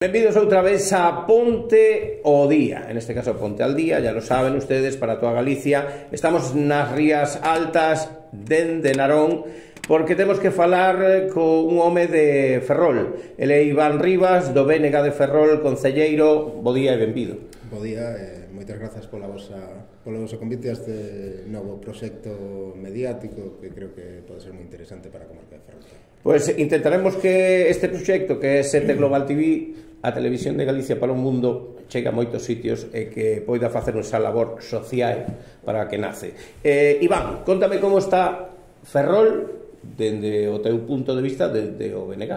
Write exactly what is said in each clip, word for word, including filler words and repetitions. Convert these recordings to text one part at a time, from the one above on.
Bienvenidos otra vez a Ponte o Día, en este caso Ponte al Día, ya lo saben ustedes, para toda Galicia. Estamos nas Rías Altas dende Narón, porque temos que falar con un home de Ferrol. Ele é Iván Rivas, do B N G de Ferrol, concelleiro. Bo día e benvido. Bo día e moitas grazas pola vosa, polo vosso convite a este novo proxecto mediático que creo que pode ser moi interesante para a comarca de Ferrol. Pois intentaremos que este proxecto, que é Sete Global T V, a televisión de Galicia para o mundo, chega a moitos sitios e que poida facer esa labor social para a que nace. Eh, Iván, contame como está Ferrol dende o teu punto de vista dende o B N G.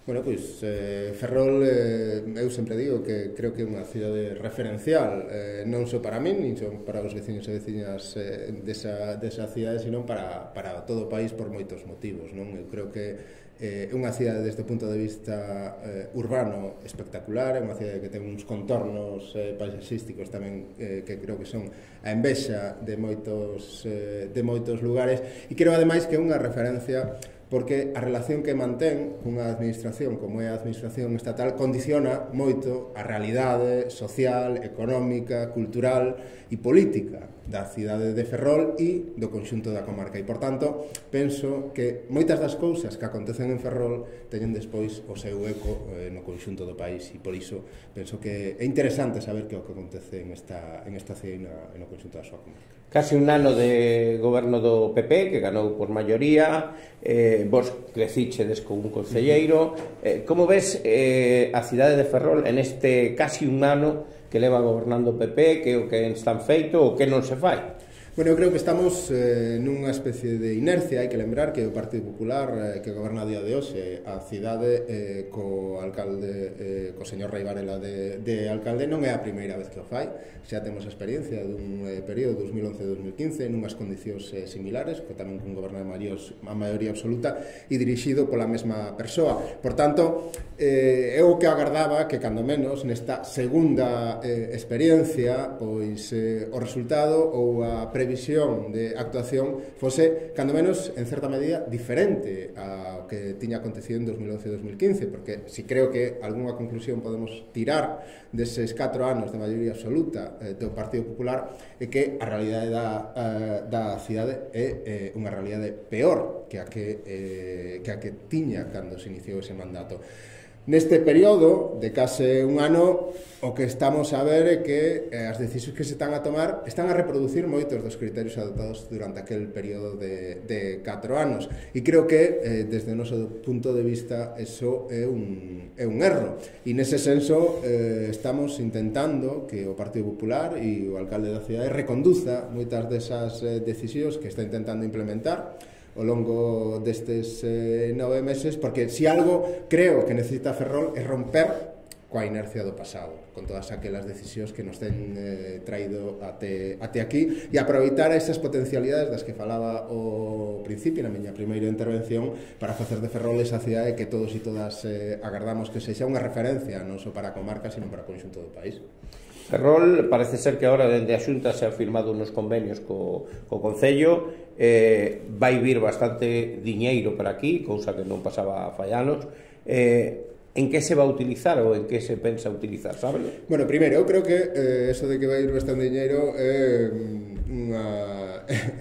Bueno, pois eh, Ferrol, eh, eu sempre digo que creo que é unha cidade referencial, eh, non só para min, nin só para os veciños e veciñas eh, desa, desa cidade, sino para, para todo o país por moitos motivos, non? Eu creo que é eh, unha cidade desde o punto de vista eh, urbano espectacular, é unha cidade que ten uns contornos eh, paisaxísticos tamén eh, que creo que son a envexa de moitos, eh, de moitos lugares, e creo ademais que é unha referencia porque a relación que mantén cunha administración como é a administración estatal condiciona moito a realidade social, económica, cultural e política da cidade de Ferrol e do conxunto da comarca. E, por tanto, penso que moitas das cousas que acontecen en Ferrol teñen despois o seu eco eh, no conxunto do país, e por iso penso que é interesante saber que o que acontece en esta, en esta cidade e no conxunto da súa comarca. Casi un ano de goberno do P P, que ganou por maioría, eh, vos crecichedes con un concelleiro. Eh, como ves eh, a cidade de Ferrol en este casi un ano que leva gobernando o P P, que o que están feito ou que non se fai? Bueno, eu creo que estamos eh, nunha especie de inercia. Hai que lembrar que o Partido Popular eh, que goberna a día de hoxe a cidade eh, co alcalde, eh, co señor Rei Varela de, de alcalde, non é a primeira vez que o fai. Xa temos a experiencia dun eh, período dos mil once a dos mil quince nunhas condicións eh, similares, que tamén cun goberno de a maioría absoluta e dirixido pola mesma persoa. Por tanto, eh, eu que agardaba que cando menos nesta segunda eh, experiencia pois eh, o resultado ou a previsión de actuación fose, cando menos, en certa medida, diferente ao que tiña acontecido en dos mil once e dos mil quince, porque si creo que algunha conclusión podemos tirar deses catro anos de maioría absoluta eh, do Partido Popular é que a realidade da, eh, da cidade é eh, unha realidade peor que a que, eh, que a que tiña cando se iniciou ese mandato. Neste período de case un ano, o que estamos a ver é que eh, as decisións que se están a tomar están a reproducir moitos dos criterios adoptados durante aquel período de, de catro anos. E creo que, eh, desde o noso punto de vista, eso é un, é un erro. E nese senso, eh, estamos intentando que o Partido Popular e o alcalde da cidade reconduza moitas desas eh, decisións que está intentando implementar ao longo destes eh, nove meses, porque se algo creo que necesita Ferrol é romper coa inercia do pasado, con todas aquelas decisións que nos ten eh, traído até, até aquí, e aproveitar esas potencialidades das que falaba ao principio na miña primeira intervención para facer de Ferrol esa cidade que todos e todas eh, agardamos que sexa unha referencia non só para a comarca, sino para o conxunto do país. Ferrol parece ser que agora dende a Xunta se han firmado unos convenios co, co Concello, eh, vai vir bastante diñeiro para aquí, cousa que non pasaba fai anos. Eh, en que se va a utilizar ou en que se pensa utilizar, sabes? Bueno, primeiro, eu creo que eh, eso de que vai ir bastante diñeiro é eh, unha...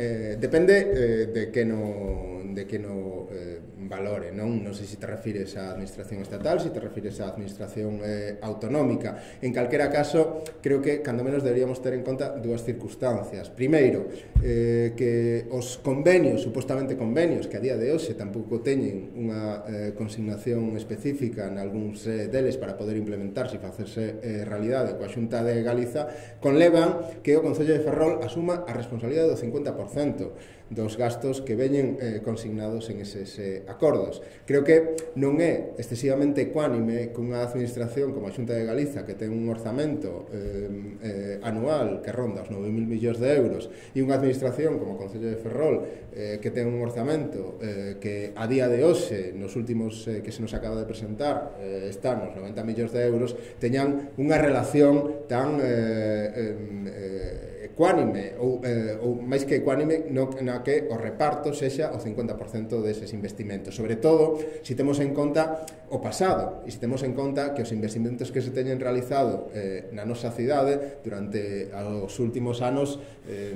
Eh, depende eh, de que no, de que no eh, valore, non? Non sei se te refires á administración estatal, se te refires á administración eh, autonómica. En calquera caso, creo que cando menos deberíamos ter en conta dúas circunstancias. Primeiro, eh, que os convenios, supostamente convenios, que a día de hoxe tampouco teñen unha eh, consignación específica en algúns eh, deles para poder implementarse e facerse eh, realidade coa Xunta de Galiza, conlevan que o Concello de Ferrol asuma a responsabilidade do cincuenta por cento dos gastos que veñen eh, consignados en eses eh, acordos. Creo que non é excesivamente ecuánime que unha administración como a Xunta de Galiza, que ten un orzamento eh, eh, anual que ronda os nove mil millóns de euros, e unha administración como o Concello de Ferrol, eh, que ten un orzamento eh, que a día de hoxe, nos últimos eh, que se nos acaba de presentar, eh, están nos noventa millóns de euros, teñan unha relación tan eh, eh, ecuánime, ou, eh, ou máis que ecuánime, no, na na que o reparto sexa o cincuenta por cento deses investimentos, sobre todo se temos en conta o pasado e se temos en conta que os investimentos que se teñen realizado eh, na nosa cidade durante os últimos anos eh,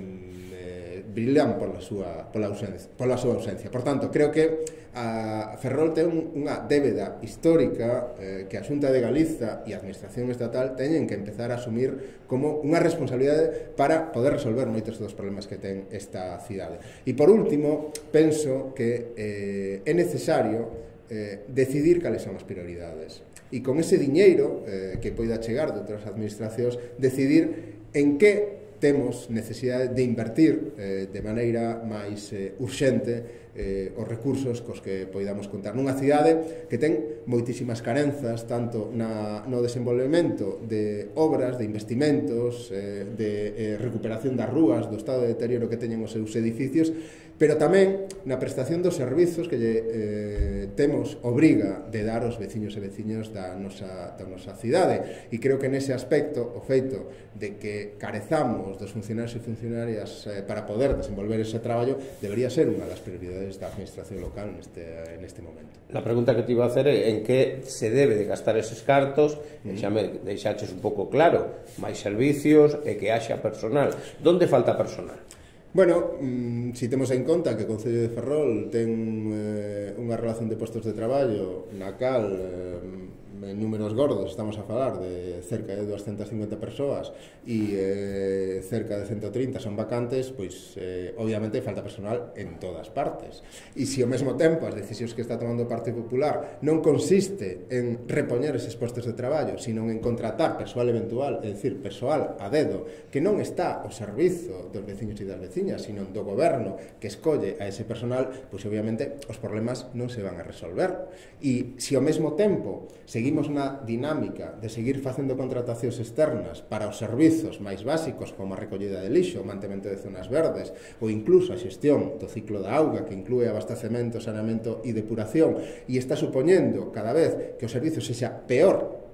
eh, brillan pola súa, pola, ausencia, pola súa ausencia. Por tanto, creo que a Ferrol ten unha débeda histórica eh, que a Xunta de Galiza e a Administración Estatal teñen que empezar a asumir como unha responsabilidade para poder resolver moitos dos problemas que ten esta cidade. E por último, penso que eh, é necesario eh, decidir cales son as prioridades e con ese diñeiro eh, que poida chegar de outras administracións decidir en que temos necesidade de invertir eh, de maneira máis eh, urxente eh, os recursos cos que poidamos contar nunha cidade que ten moitísimas carenzas tanto na, no desenvolvemento de obras, de investimentos eh, de eh, recuperación das rúas, do estado de deterioro que teñen os seus edificios, pero tamén na prestación dos servizos que lle, eh, temos obriga de dar aos veciños e veciños da nosa, da nosa cidade. E creo que nese aspecto o feito de que carezamos dos funcionarios e funcionarias eh, para poder desenvolver ese traballo debería ser unha das prioridades da administración local neste, neste momento. A pregunta que te iba a hacer é en que se debe de gastar eses cartos, e xa me deixaches un pouco claro, máis servicios e que haxa personal. Donde falta personal? Bueno, mmm, si temos en conta que o Concello de Ferrol ten eh, unha relación de postos de traballo na cal eh, en números gordos estamos a falar de cerca de doscientas cincuenta persoas e eh, cerca de ciento trinta son vacantes, pois eh, obviamente falta personal en todas partes. E se ao mesmo tempo as decisións que está tomando o Partido Popular non consiste en repoñer eses postos de traballo, sino en contratar persoal eventual, é dicir, persoal a dedo, que non está ao servizo dos veciños e das veciñas, sino do goberno que escolle a ese personal, pois obviamente os problemas non se van a resolver. E se ao mesmo tempo seguimos na dinámica de seguir facendo contratacións externas para os servizos máis básicos como a recollida de lixo, o mantemento de zonas verdes ou incluso a xestión do ciclo da auga que inclúe abastecemento, saneamento e depuración e está supoñendo cada vez que o servizo sexa peor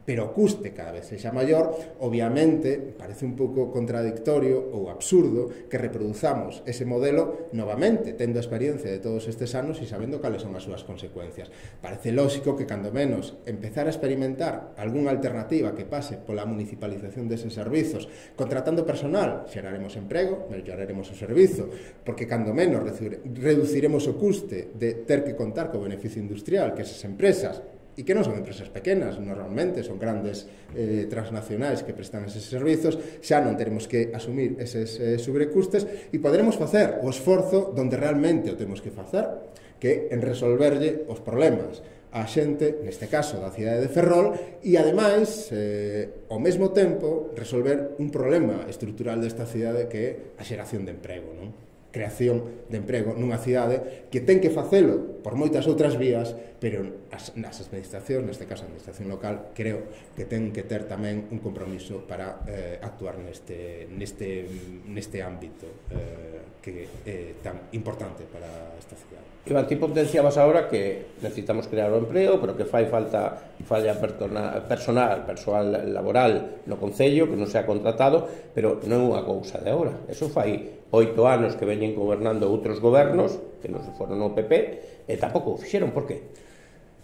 pero o custe cada vez sexa maior, obviamente parece un pouco contradictorio ou absurdo que reproduzamos ese modelo novamente, tendo a experiencia de todos estes anos e sabendo cales son as súas consecuencias. Parece lógico que, cando menos, empezar a experimentar algunha alternativa que pase pola municipalización deses servizos, contratando personal, xeraremos emprego, melloraremos o servizo, porque, cando menos, reduciremos o custe de ter que contar co beneficio industrial que esas empresas, e que non son empresas pequenas, normalmente son grandes eh, transnacionais que prestan eses servizos, xa non teremos que asumir eses eh, sobrecustes e poderemos facer o esforzo donde realmente o temos que facer, que en resolverlle os problemas a xente, neste caso da cidade de Ferrol, e ademais, eh, ao mesmo tempo, resolver un problema estrutural desta cidade que é a xeración de emprego, non? Creación de emprego nunha cidade que ten que facelo por moitas outras vías, pero as, nas administracións, neste caso a administración local, creo que ten que ter tamén un compromiso para eh, actuar neste, neste, neste ámbito eh, que é tan importante para esta cidade. Iván, ti potenciabas agora que necesitamos crear o emprego, pero que fai falta falla personal, persoal laboral no Concello, que non sea contratado, pero non é unha cousa de agora. Eso fai oito anos que veñen gobernando outros gobernos, que non se foron o P P, e tampouco o fixeron. Por que?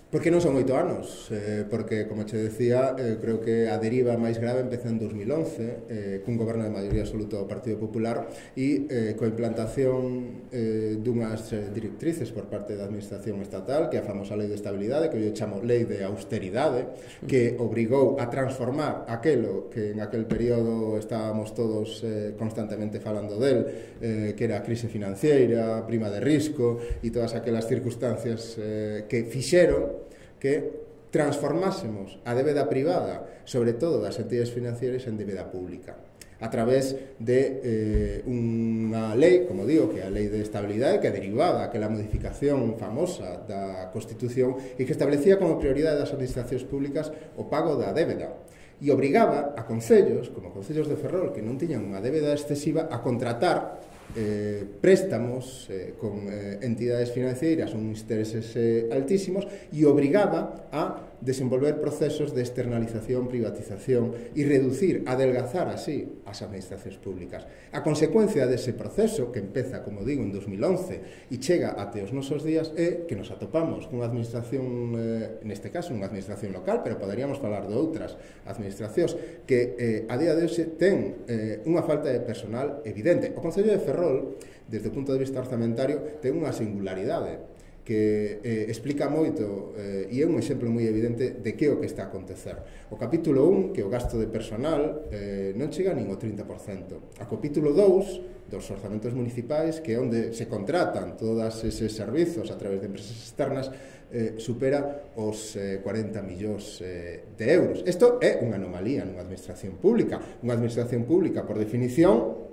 Porque non son oito anos, eh, porque, como che decía, eh, creo que a deriva máis grave empeza en dos mil once, eh, cun goberno de maioría absoluta do Partido Popular e eh, coa implantación eh, dunhas eh, directrices por parte da Administración Estatal, que é a famosa Lei de Estabilidade, que eu chamo Lei de Austeridade, que obrigou a transformar aquelo que en aquel período estábamos todos eh, constantemente falando del, eh, que era a crise financiera, prima de risco e todas aquelas circunstancias eh, que fixeron que transformásemos a débeda privada, sobre todo das entidades financieras, en débeda pública a través de eh, unha lei, como digo, que é a Lei de Estabilidade, que derivaba aquela modificación famosa da Constitución e que establecía como prioridade das administracións públicas o pago da débeda e obrigaba a concellos, como concellos de Ferrol, que non tiñan unha débeda excesiva, a contratar eh, préstamos eh, con eh, entidades financeiras uns intereses eh, altísimos e obrigaba a desenvolver procesos de externalización, privatización e reducir, adelgazar así as administracións públicas. A consecuencia dese proceso, que empeza, como digo, en dos mil once e chega até os nosos días, é que nos atopamos cunha administración, eh, neste caso, unha administración local, pero poderíamos falar de outras administracións, que eh, a día de hoxe ten eh, unha falta de personal evidente. O Concello de Ferrol, desde o punto de vista orzamentario, ten unha singularidade que eh, explica moito eh, e é un exemplo moi evidente de que é o que está a acontecer. O capítulo un, que é o gasto de personal, eh, non chega nin o trinta por cento. A capítulo dous, dos orzamentos municipais, que é onde se contratan todos eses servizos a través de empresas externas, eh, supera os eh, cuarenta millóns eh, de euros. Isto é unha anomalía nunha administración pública. Unha administración pública, por definición,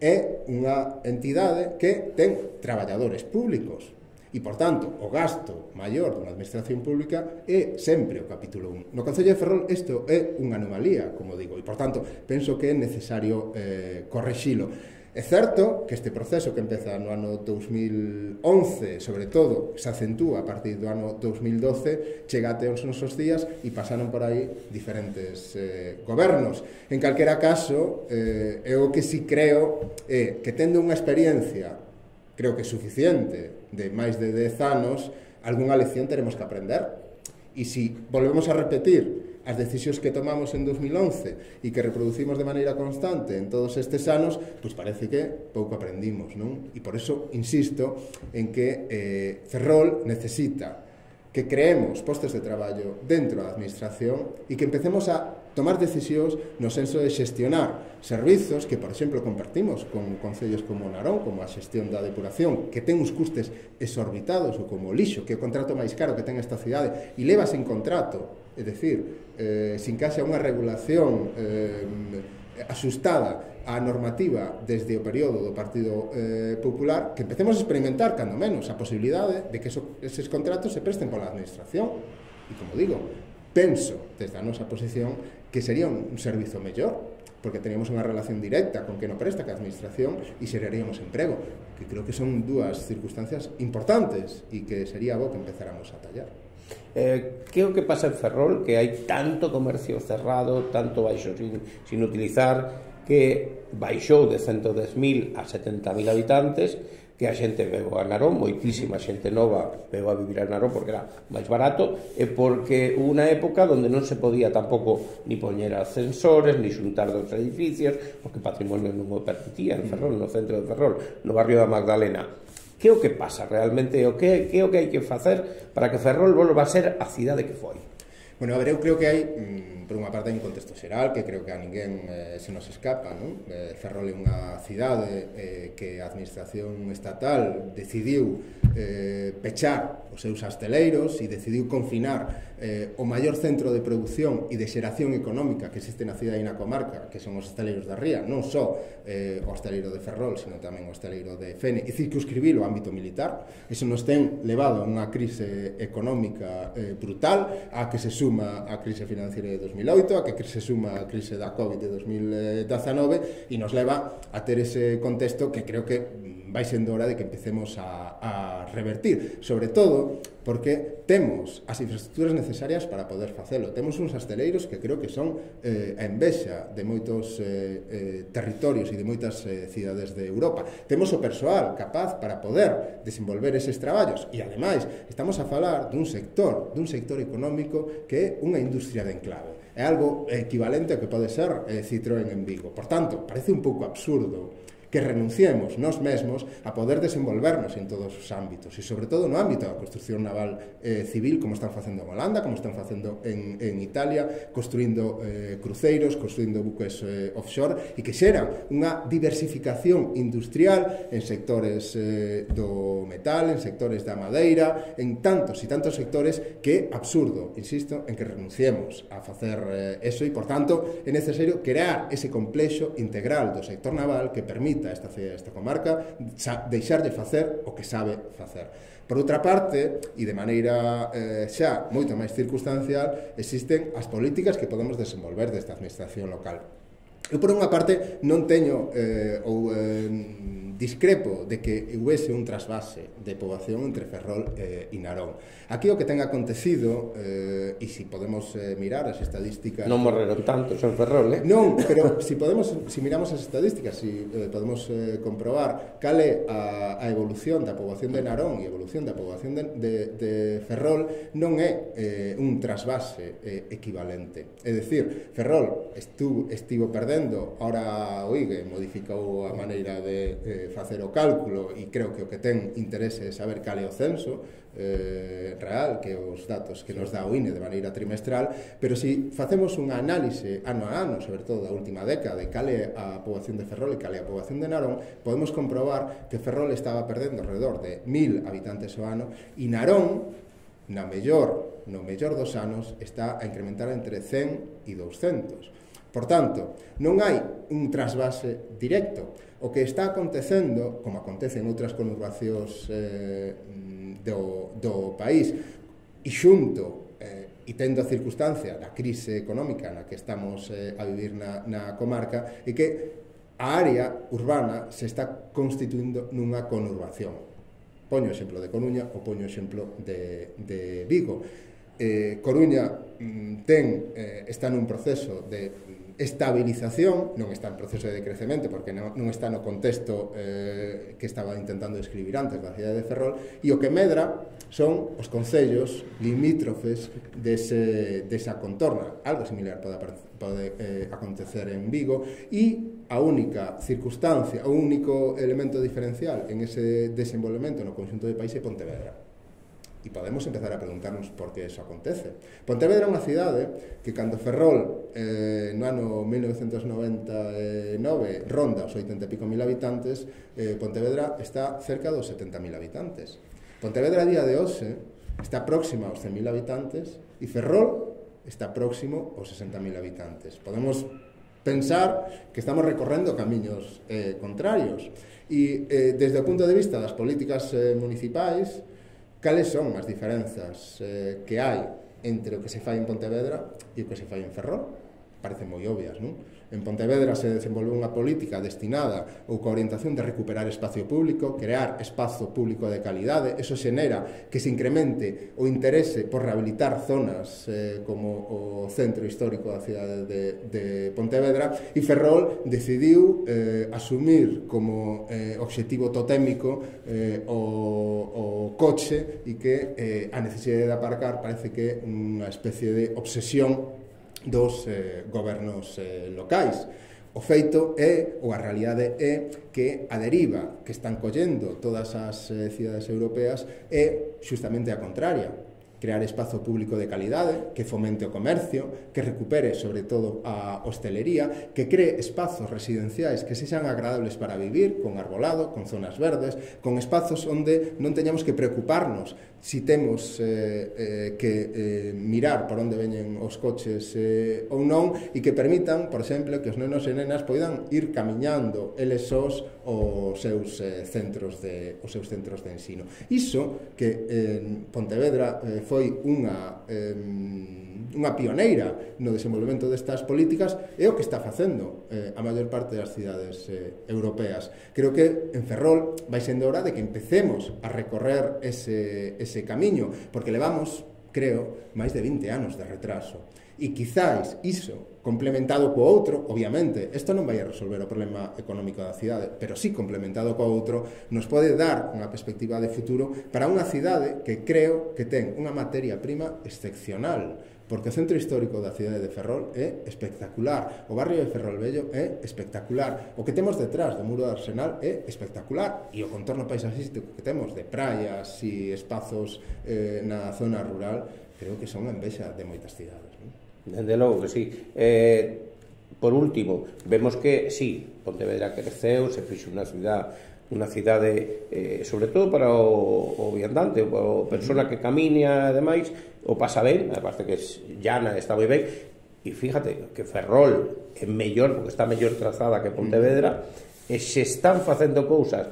é unha entidade que ten traballadores públicos. E, por tanto, o gasto maior dunha administración pública é sempre o capítulo un. No Concello de Ferrol isto é unha anomalía, como digo, e, por tanto, penso que é necesario eh, correxilo. É certo que este proceso que empeza no ano dous mil once, sobre todo, se acentúa a partir do ano dous mil doce, chega até os nosos días e pasaron por aí diferentes eh, gobernos. En calquera caso, eh, é o que si creo é que tendo unha experiencia, creo que suficiente, de máis de dez anos, algunha lección teremos que aprender. E se volvemos a repetir as decisións que tomamos en dos mil once e que reproducimos de maneira constante en todos estes anos, pois parece que pouco aprendimos, non? E por iso insisto en que eh, Ferrol necesita que creemos postos de traballo dentro da administración e que empecemos a tomar decisións no senso de xestionar servizos que, por exemplo, compartimos con concellos como Narón, como a xestión da depuración, que ten uns custes exorbitados, ou como o lixo, que é o contrato máis caro que ten esta cidade, e leva sen contrato, é dicir, eh, sin que haxa unha regulación eh, asustada á normativa desde o período do Partido eh, Popular, que empecemos a experimentar, cando menos, a posibilidade de que eso, eses contratos se presten pola administración. E, como digo, penso, desde a nosa posición, que sería un, un servizo mellor, porque teníamos unha relación directa con que non presta que a administración e xeraríamos emprego, que creo que son dúas circunstancias importantes e que sería bo que empezáramos a tallar. Eh, que é o que pasa en Ferrol, que hai tanto comercio cerrado, tanto baixo sin, sin utilizar, que baixou de ciento dez mil a setenta mil habitantes, que a xente veo a Narón, moitísima xente nova veo a vivir a Narón porque era máis barato, e porque hubo unha época onde non se podía tampouco ni poñer ascensores, ni xuntar dos edificios, porque o patrimonio non o permitía en Ferrol, no centro de Ferrol, no barrio da Magdalena. Que é o que pasa realmente? O que, que é o que hai que facer para que Ferrol volva a ser a cidade que foi? Bueno, a ver, eu creo que hai, mm, por unha parte, hai un contexto xeral que creo que a ninguén eh, se nos escapa, non? Eh, Ferrol é unha cidade eh, que a administración estatal decidiu eh, pechar os seus asteleiros e decidiu confinar eh, o maior centro de produción e de xeración económica que existe na cidade e na comarca, que son os asteleiros da Ría, non só eh, o asteleiro de Ferrol, sino tamén o asteleiro de Fene, e circunscribir o ámbito militar. Eso nos ten levado a unha crise económica eh, brutal, a que se suma a crise financiera de dos mil oito, a que se suma a crise da COVID de dos mil dezanove, e nos leva a ter ese contexto que creo que vai sendo hora de que empecemos a, a revertir, sobre todo porque temos as infraestructuras necesarias para poder facelo. Temos uns asteleiros que creo que son eh, a envexa de moitos eh, eh, territorios e de moitas eh, cidades de Europa. Temos o persoal capaz para poder desenvolver eses traballos e, ademais, estamos a falar dun sector, dun sector económico que é unha industria de enclave. É algo equivalente ao que pode ser eh, Citroën en Vigo. Por tanto, parece un pouco absurdo que renunciemos nós mesmos a poder desenvolvernos en todos os ámbitos e, sobre todo, no ámbito da construcción naval eh, civil, como están facendo en Holanda, como están facendo en, en Italia, construindo eh, cruceiros, construindo buques eh, offshore, e que xeran unha diversificación industrial en sectores eh, do metal, en sectores da madeira, en tantos e tantos sectores que é absurdo, insisto, en que renunciemos a facer eh, eso, e, por tanto, é necesario crear ese complexo integral do sector naval que permita a esta cidade, esta comarca, deixar de facer o que sabe facer. Por outra parte, e de maneira eh, xa moito máis circunstancial, existen as políticas que podemos desenvolver desta administración local. Eu, por unha parte, non teño eh, ou eh, discrepo de que huese un trasvase de poboación entre Ferrol e eh, Narón. Aquí o que ten acontecido, eh, e se si podemos eh, mirar as estadísticas... Non morreron tantos en Ferrol, eh? Non, pero se si podemos, si miramos as estadísticas, se si, eh, podemos eh, comprobar cal é a, a evolución da poboación de Narón e a evolución da poboación de, de, de Ferrol, non é eh, un trasvase eh, equivalente. É dicir, Ferrol estuvo, estivo perdendo, ora o I G E modificou a maneira de eh, facer o cálculo e creo que o que ten interese é saber cal é o censo eh, real, que os datos que nos dá o I N E de maneira trimestral, pero se si facemos unha análise ano a ano, sobre todo da última década, de cal é a poboación de Ferrol e cal é a poboación de Narón, podemos comprobar que Ferrol estaba perdendo alrededor de mil habitantes ao ano e Narón, na mellor, no mellor dos anos, está a incrementar entre cen e douscentos. Por tanto, non hai un trasvase directo. O que está acontecendo, como acontece en outras conurbacións eh, do, do país, e xunto, eh, e tendo a circunstancia da crise económica na que estamos eh, a vivir na, na comarca, é que a área urbana se está constituindo nunha conurbación. Poño o exemplo de Coruña ou poño o exemplo de, de Vigo. Eh, Coruña mm, ten, eh, está nun proceso de estabilización, non está en proceso de decrecemento porque non, non está no contexto eh, que estaba intentando describir antes da cidade de Ferrol, e o que medra son os concellos limítrofes dese, desa contorna. Algo similar pode, pode eh, acontecer en Vigo, e a única circunstancia, o único elemento diferencial en ese desenvolvemento no conxunto do país é Pontevedra. E podemos empezar a preguntarnos por que eso acontece. Pontevedra é unha cidade que cando Ferrol eh, no ano mil novecentos noventa e nove ronda os oitenta e pico mil habitantes, eh, Pontevedra está cerca dos setenta mil habitantes. Pontevedra a día de hoxe está próxima aos cen mil habitantes e Ferrol está próximo aos sesenta mil habitantes. Podemos pensar que estamos recorrendo camiños eh, contrarios e eh, desde o punto de vista das políticas eh, municipais, cales son as diferenzas eh, que hai entre o que se fai en Pontevedra e o que se fai en Ferrol? Parecen moi obvias, non? En Pontevedra se desenvolve unha política destinada ou coa orientación de recuperar espacio público, crear espazo público de calidade. Eso xenera que se incremente o interese por rehabilitar zonas eh, como o centro histórico da cidade de, de Pontevedra, e Ferrol decidiu eh, asumir como eh, obxectivo totémico eh, o, o coche, e que eh, a necesidade de aparcar parece que é unha especie de obsesión dos eh, gobernos eh, locais. O feito é, ou a realidade é, que a deriva que están collendo todas as eh, cidades europeas é xustamente a contraria. Crear espazo público de calidade, que fomente o comercio, que recupere sobre todo a hostelería, que cree espazos residenciais que sexan agradables para vivir, con arbolado, con zonas verdes, con espazos onde non teñamos que preocuparnos si temos eh, eh, que eh, mirar por onde veñen os coches eh, ou non, e que permitan, por exemplo, que os nenos e nenas poidan ir camiñando eles sós os seus eh, centros de os seus centros de ensino. Iso que en eh, Pontevedra eh, foi unha eh, unha pioneira no desenvolvemento destas políticas, é o que está facendo eh, a maior parte das cidades eh, europeas. Creo que en Ferrol vai sendo hora de que empecemos a recorrer ese, ese camiño, porque levamos, creo, máis de vinte anos de retraso. E quizáis iso, complementado co outro, obviamente, isto non vai a resolver o problema económico da cidade, pero sí complementado co outro, nos pode dar unha perspectiva de futuro para unha cidade que creo que ten unha materia prima excepcional, porque o centro histórico da cidade de Ferrol é espectacular, o barrio de Ferrol Vello é espectacular, o que temos detrás do muro do Arsenal é espectacular, e o contorno paisaxístico que temos de praias e espazos eh, na zona rural, creo que son a envexa de moitas cidades, non? Desde logo que sí. Eh, por último, vemos que sí, Pontevedra creceu, se fixo unha cidade unha cidade, eh, sobre todo para o, o viandante, o persona que camiña e demais, o pasa ben, aparte que es llana, está moi ben, e fíjate que Ferrol é mellor, porque está mellor trazada que Pontevedra, e se están facendo cousas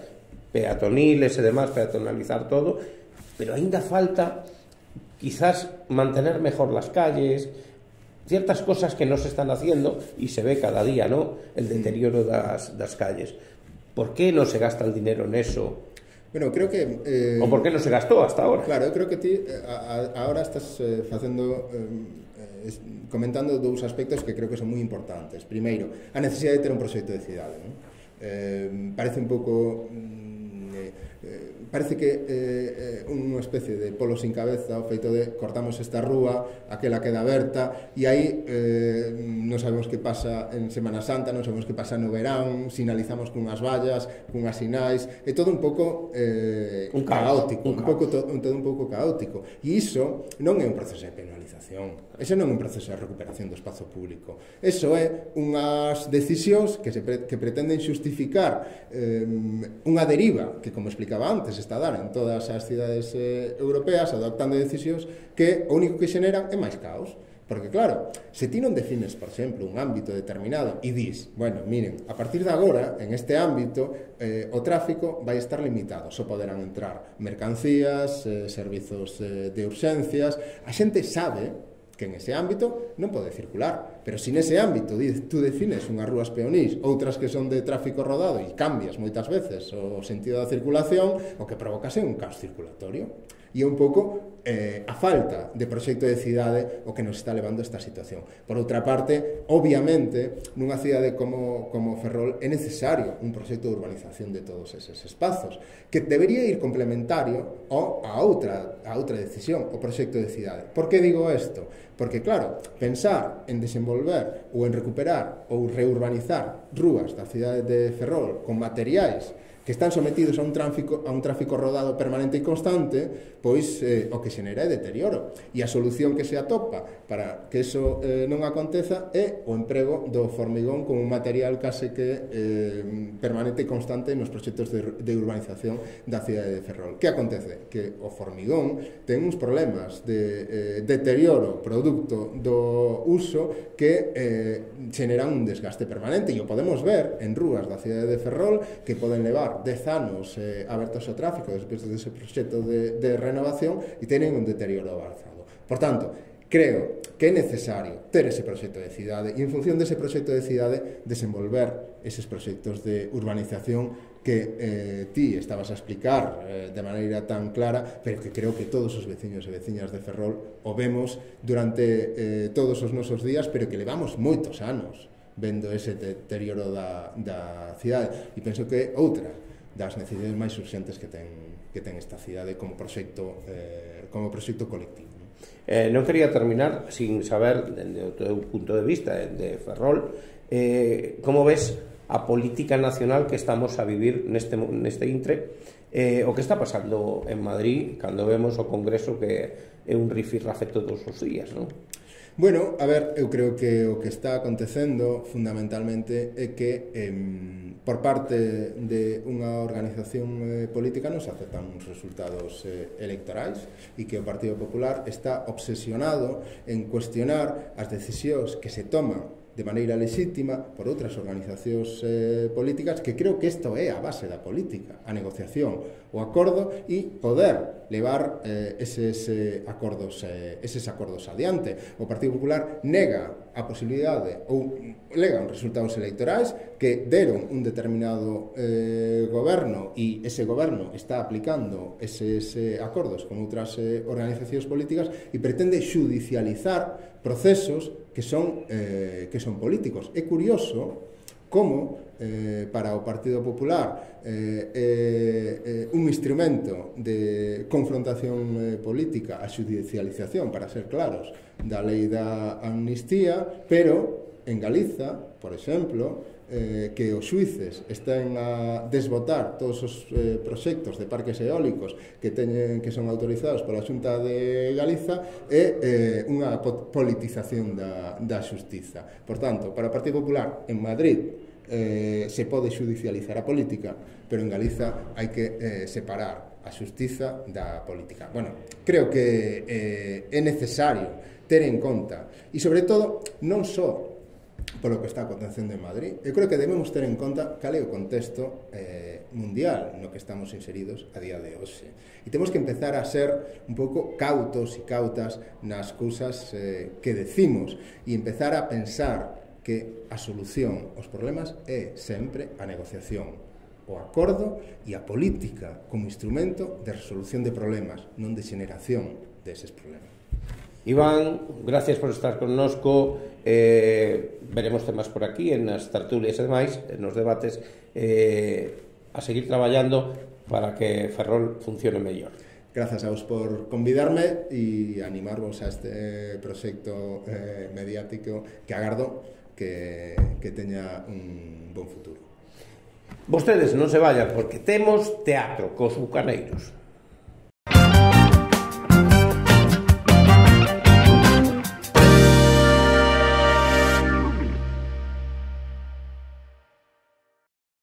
peatoniles e demás, peatonalizar todo, pero aínda falta quizás mantener mejor las calles, ciertas cosas que no se están haciendo, y se ve cada día, ¿no?, el deterioro das, das calles. por que non se gasta el dinero neso? Bueno, creo que... Eh, o por que non se gastou hasta ahora? Claro, eu creo que ti a, a, ahora estás eh, facendo... Eh, comentando dous aspectos que creo que son moi importantes. Primeiro, a necesidade de ter un proxecto de cidade, non? Eh, parece un pouco... Eh, parece que eh, unha especie de polo sin cabeza o feito de cortamos esta rúa, aquela queda aberta e aí eh, non sabemos que pasa en Semana Santa, non sabemos que pasa no verán, sinalizamos cunhas vallas, cunhas sinais, é todo un pouco eh, un caótico, un, un pouco to, un, todo un pouco caótico e iso non é un proceso de penalización, ese non é un proceso de recuperación do espazo público, eso é unhas decisións que, se pre, que pretenden xustificar eh, unha deriva que, como explicaba antes, está a dar en todas as cidades eh, europeas adoptando decisións que o único que xeneran é máis caos. Porque claro, se ti non defines, por exemplo, un ámbito determinado e dis, bueno, miren, a partir de agora, en este ámbito, eh, o tráfico vai estar limitado, só poderán entrar mercancías, eh, servizos eh, de urxencias, a xente sabe que en ese ámbito non pode circular, pero se nese ámbito tú defines unhas rúas peonís, outras que son de tráfico rodado e cambias moitas veces o sentido da circulación, o que provocase un caos circulatorio. E é un pouco eh, a falta de proxecto de cidade o que nos está levando a esta situación. Por outra parte, obviamente, nunha cidade como, como Ferrol é necesario un proxecto de urbanización de todos eses espazos, que debería ir complementario ao, a, outra, a outra decisión, o proxecto de cidade. Por que digo isto? Porque, claro, pensar en desenvolver ou en recuperar ou reurbanizar rúas da cidade de Ferrol con materiais que están sometidos a un tráfico, a un tráfico rodado permanente e constante, pois eh, o que xenera é deterioro. E a solución que se atopa para que eso eh, non aconteza é o emprego do formigón como un material case que eh, permanente e constante nos proxectos de, de urbanización da cidade de Ferrol. Que acontece? Que o formigón ten uns problemas de eh, deterioro producto do uso que eh, xeneran un desgaste permanente, e o podemos ver en rúas da cidade de Ferrol que poden levar dez anos eh, abertos ao tráfico despois dese proxecto de, de renovación e tenen un deterioro avanzado. Por tanto, creo que é necesario ter ese proxecto de cidade e en función dese proxecto de cidade desenvolver eses proxectos de urbanización que eh, ti estabas a explicar eh, de maneira tan clara, pero que creo que todos os veciños e veciñas de Ferrol o vemos durante eh, todos os nosos días, pero que levamos moitos anos vendo ese deterioro da, da cidade, e penso que outra das necesidades máis urxentes que ten, que ten esta cidade como proxecto eh, como proxecto colectivo. Eh, non quería terminar sin saber, dende o teu punto de vista de Ferrol, eh, como ves a política nacional que estamos a vivir neste, neste intre, eh, o que está pasando en Madrid cando vemos o Congreso que é un rifirrafe todos os días, non? Bueno, a ver, eu creo que o que está acontecendo fundamentalmente é que eh, por parte de unha organización eh, política non se aceptan os resultados eh, electorais e que o Partido Popular está obsesionado en cuestionar as decisións que se toman de maneira lexítima por outras organizacións eh, políticas, que creo que isto é a base da política, a negociación, o acordo e poder levar eh, eses eh, acordos eh, eses acordos adiante. O Partido Popular nega a posibilidade ou lega uns resultados electorais que deron un determinado eh, goberno e ese goberno está aplicando eses eh, acordos con outras eh, organizacións políticas e pretende xudicializar procesos que son eh, que son políticos. É curioso como eh, para o Partido Popular eh, eh, eh, un instrumento de confrontación eh, política a xudicialización, para ser claros, da lei da amnistía, pero en Galiza, por exemplo, eh, que os xuíces estén a desbotar todos os eh, proxectos de parques eólicos que teñen que son autorizados pola Xunta de Galiza é eh, unha politización da, da xustiza. Por tanto, para o Partido Popular en Madrid eh, se pode xudicializar a política, pero en Galiza hai que eh, separar a xustiza da política. Bueno, creo que eh, é necesario ter en conta e, sobre todo, non só polo que está acontecendo en Madrid. Eu creo que debemos ter en conta cal é o contexto eh, mundial no que estamos inseridos a día de hoxe. E temos que empezar a ser un pouco cautos e cautas nas cousas eh, que decimos e empezar a pensar que a solución aos problemas é sempre a negociación. o acordo e a política como instrumento de resolución de problemas, non de xeneración deses problemas. Iván, gracias por estar connosco. Eh, veremos temas por aquí en as tertulias e demais, nos debates, eh, a seguir traballando para que Ferrol funcione mellor. Grazas a vos por convidarme e animarvos a este proxecto eh, mediático que agardo que, que teña un bon futuro. Vostedes non se vayan porque temos teatro cos bucaneiros.